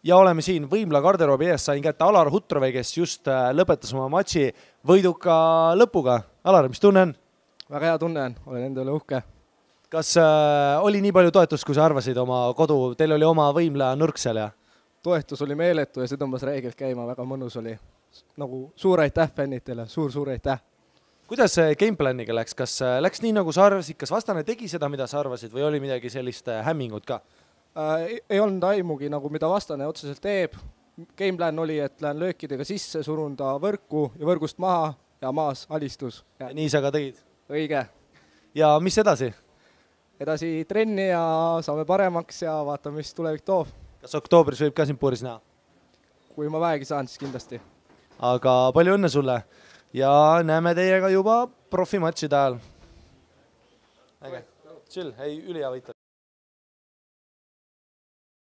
Ja oleme siin Võimla garderoobi ees, sain kätte Alar Hutrove, kes just lõpetas oma matši võiduka lõpuga. Alar, mis tunne on? Väga hea tunne on, olen enda üle uhke. Kas oli nii palju toetust, kui sa arvasid oma kodu? Teil oli oma Võimla nurk seal ja? Toetus oli meeletu ja see tõmbas reegelt käima, väga mõnus oli. Nagu suur aitäh fännitele, suur aitäh. Kuidas gameplaniga läks? Kas läks nii, nagu sa arvasid? Kas vastane tegi seda, mida sa arvasid või oli midagi sellist hämmingut ka? Ei olnud aimugi, nagu mida vastane otseselt teeb. Gameplan oli, et lähen löökidega sisse, surun ta võrku ja võrgust maha ja maas alistus. Ja nii sa ka tegid? Õige. Ja mis edasi? Edasi trenni ja saame paremaks ja vaatame, mis tulevik toob. Kas oktoobris võib ka sind puuris näha? Kui ma väegi saan, siis kindlasti. Aga palju õnne sulle ja näeme teiega juba profimatšide ajal. Äge. Chill, ei ülihea võita.